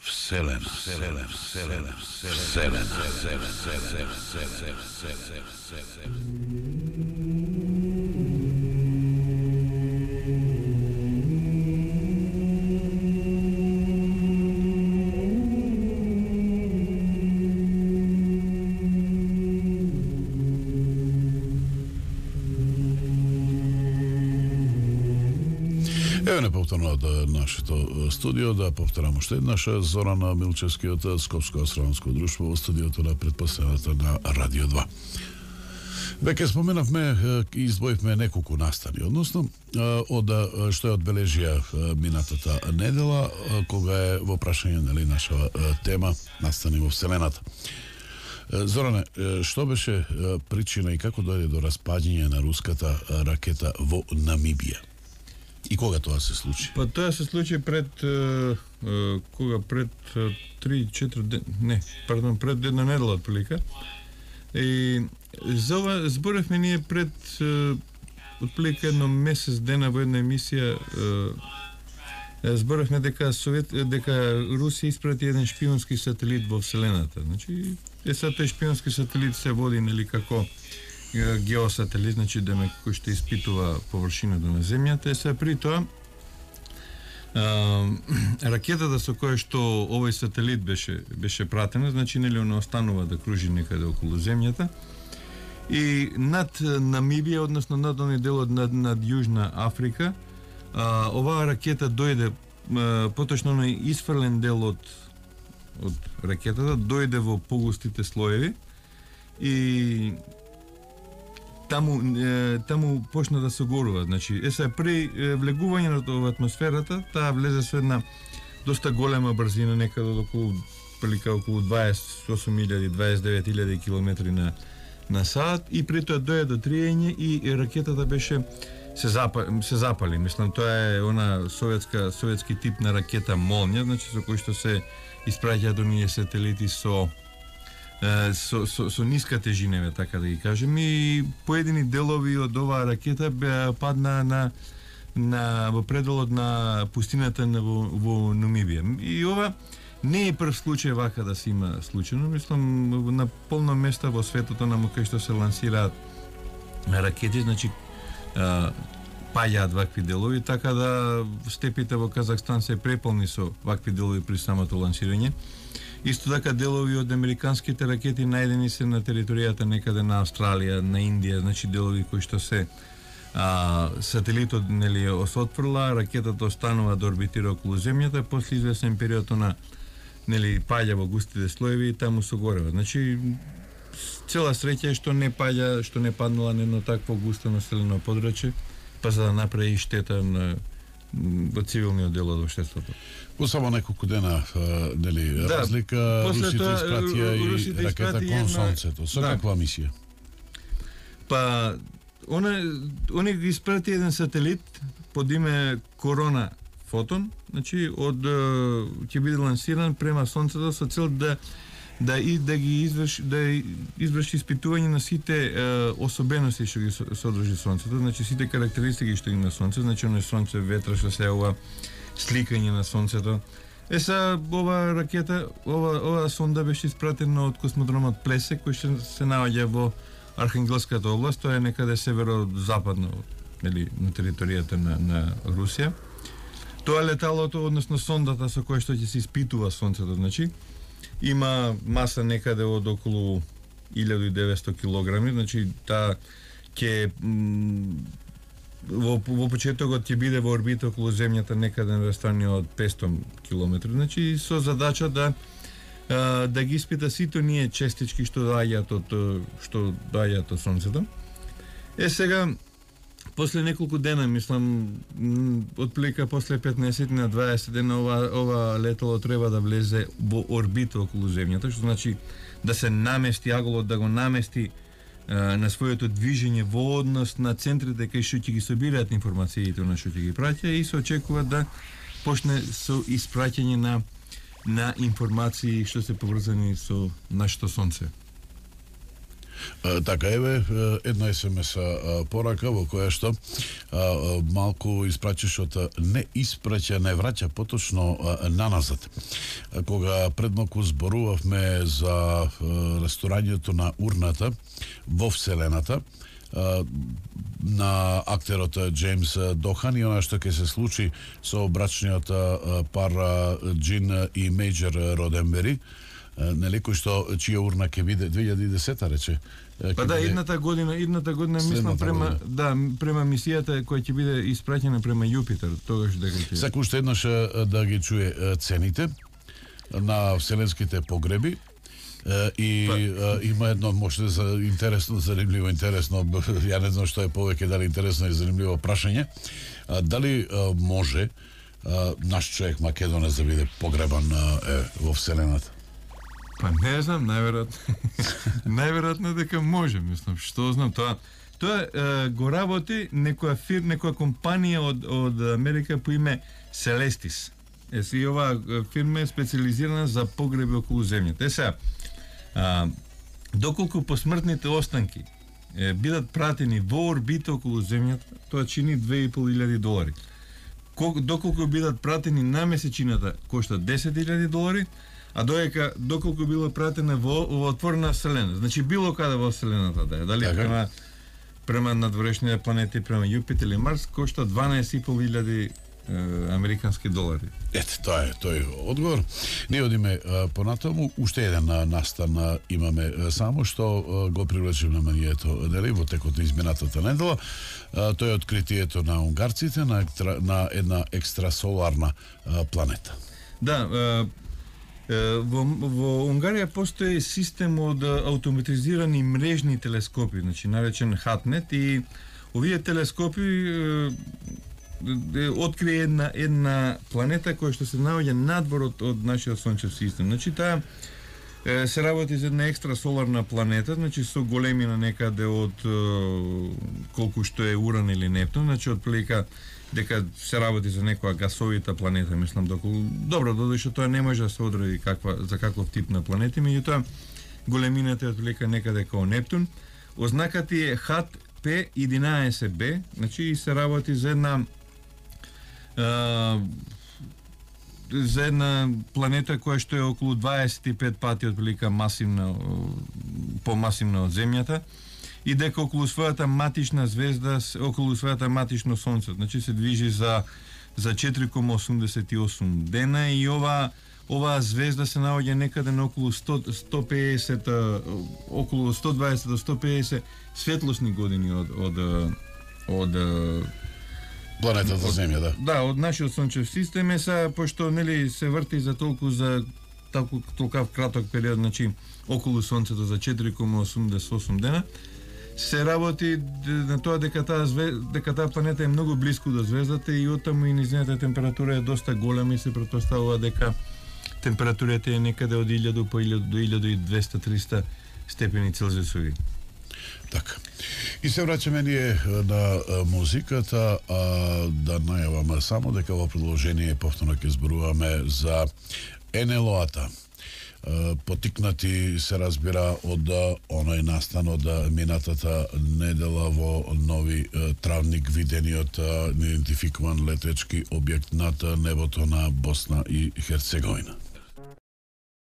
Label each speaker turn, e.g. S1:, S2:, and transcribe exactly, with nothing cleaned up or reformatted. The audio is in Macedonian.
S1: Вселена, Вселена, Вселена, Вселена, Вселена,
S2: Еве не повторно од нашето студио да повторам уште еднаш Зоран Милчевски од Скопско-Астрономско друштво во студиото на претпоставената на Радио два. Веќе споменавме и избоивме неколку настани, односно од што е одбележија минатата недела, кога е во прашање нели наша тема настани во Вселената. Зоране, што беше причина и како дојде до распаѓање на руската ракета во Намибија? И кога тоа се случи?
S3: Па тоа се случи пред е, е, кога пред три-четири ден, не, пардон, пред една недела отприлика. И за ова зборевме ние пред е, отприлика едно месец дена во една емисија, е, зборевме дека Совет дека Русија испрати еден шпионски сателит во Вселената. Значи, е са тој шпионски сателит се води нели како геосателит, значи демек кој што испитува површината на земјата. Е се при тоа а, ракетата со која што овој сателит беше беше пратена, значи нели она останува да кружи некаде околу земјата. И над Намибија, односно над оној делот над, над Јужна Африка, а, оваа ракета дојде, а, поточно оној исфрлен дел од од ракетата дојде во погустите слоеви и таму е, таму почна да се горува. Значи, е се при е, влегувањето во атмосферата, таа влезе со една доста голема брзина, некаде од околу прилика околу дваесет и осум илјади, дваесет и девет илјади километри на на сат, и при тоа дојде до триење и ракетата беше се запали, се запали. Мислам, тоа е она советска советски тип на ракета Молња, значи со кој што се испраќаат оние сателити со Со, со, со ниска тежина, така да ги кажем, и поедини делови од оваа ракета беа падна на на во пределот на пустината на во, во Намибија. И ова не е прв случај вака да се има случајно, мислам на полно места во светот на кај што се лансираат ракети, значи а, паѓаат вакви делови, така да степите во Казахстан се преполни со вакви делови при самото лансирање. Исто така делови од американските ракети најдени се на територијата некаде на Австралија, на Индија, значи делови кои што се а, сателитот нели се отфрла, ракетата останува да орбитира околу земјата, после извесен период на нели паѓа во густите слоеви и таму се горева. Значи цела среќа е што не паѓа, што не паднала на едно такво густо населено подрачје, па за да направи штета на во цивилниот дел од општеството.
S2: Во само неколку дена, нели, да, разлика, русите испратија и ракета кон сонцето. Со да. Каква мисија?
S3: Па, она, они ги испрати еден сателит под име Корона Фотон, значи од ќе биде лансиран према сонцето со цел да да и да ги изврши да изврши испитување на сите е, особености што ги содржи сонцето, значи сите карактеристики што има сонце, значи оно сонце, ветра што се ова сликање на сонцето. Е са ова ракета, ова ова сонда беше испратена од космодромот Плесек, кој што се наоѓа во Архангелската област, тоа е некаде северо-западно, нели, на територијата на на Русија. Тоа леталото, односно сондата со која што ќе се испитува сонцето, значи има маса некаде од околу илјада и деветсто килограми, значи таа ќе во, во почетокот ќе биде во орбита околу земјата некаде на растојание од петстотини километри, значи со задача да да ги испита сите ние честички што доаѓаат од што доаѓаат од сонцето. Е сега после неколку дена, мислам, отприлика после петнаесет на дваесет дена ова ова летало треба да влезе во орбита околу земјата, што значи да се намести аголот, да го намести а, на своето движење во однос на центрите кај што ќе ги собираат информациите на што ќе ги праќа, и се очекува да почне со испраќање на на информации што се поврзани со нашето сонце.
S2: Така, еве, една ес ем ес порака во која што а, малку испрачиш од не испраќа, не враќа, поточно а, наназад. А, кога пред малку зборувавме за а, расторањето на урната во Вселената, а, на актерот Джеймс Дохан и она што ќе се случи со брачниот а, пар Джин и Мејджор Роденбери, нели, кој што чија урна ќе биде две илјади и десета рече.
S3: Па да, едната година, едната година мислам према година. Да, према мисијата која ќе биде испраќена према Јупитер, тогаш дека ќе.
S2: Саку уште еднаш да ги чуе цените на вселенските погреби. И па. Има едно може да за интересно, занимливо, интересно, ја не знам што е повеќе, дали интересно и занимливо прашање. Дали може наш човек македонец да биде погребан е, во вселената?
S3: Па не знам, најверојатно. Најверојатно дека може, мислам, што знам тоа. Тоа е, го работи некоја фир, некоја компанија од од Америка по име Celestis. Е, си оваа фирма е специализирана за погреби околу земјата. Е сега, а, доколку посмртните останки е, бидат пратени во орбита околу земјата, тоа чини две и пол илјади долари. Кол, доколку бидат пратени на месечината, кошта десет илјади долари, а доека доколку било пратена во, во отворена вселена, значи било каде во вселената да е, дали така, према према надворешните планети, према Јупитер или Марс, кошта дванаесет и пол илјади американски долари.
S2: Ете, тоа е тој одговор. Ние одиме понатаму, уште еден настан а, имаме а, само што а, го привлечем на манието, дали во текот на изминатата недела. А, тоа е откритието на унгарците на, на една екстрасоларна а, планета.
S3: Да, а, Во, во Унгарија постои систем од автоматизирани мрежни телескопи, значи наречен Хатнет, и овие телескопи е, е, открие една една планета која што се наоѓа надвор од, од нашиот сончев систем. Значи таа е, се работи за една екстрасоларна планета, значи со големина некаде од е, колку што е Уран или Нептун, значи од прилика дека се работи за некоја гасовита планета, мислам, доколку добро, додека тоа не може да се одреди каква за каков тип на планети, меѓутоа големината е отприлика некаде како Нептун. Ознаката е Хат П единаесет Б, значи и се работи за една а, за една планета која што е околу дваесет и пет пати отприлика масивна, помасивна од Земјата, и дека околу својата матична звезда, околу својата матично сонце, значи се движи за за четири кома осумдесет и осум дена, и ова оваа звезда се наоѓа некаде на околу сто до сто педесет, околу сто дваесет до сто педесет светлосни години од од од
S2: планетата од, Земја, да.
S3: Да, од нашиот сончев систем. Е са, пошто нели се врти за толку за толку толкав краток период, значи околу сонцето за четири кома осумдесет и осум дена, се работи на тоа дека таа звезда, дека таа планета е многу блиску до звездата, и оттаму и низината температура е доста голема, и се претпоставува дека температурата е некаде од илјада по илјада до илјада и двесте до триста степени Целзиусови.
S2: Така. И се враќаме ние на музиката, а да најаваме само дека во продолжение повторно ќе зборуваме за ен ел о-ата. Потикнати се разбира од оној настан од минатата недела во Нови Травник, видениот неидентификуван летечки објект над небото на Босна и Херцеговина.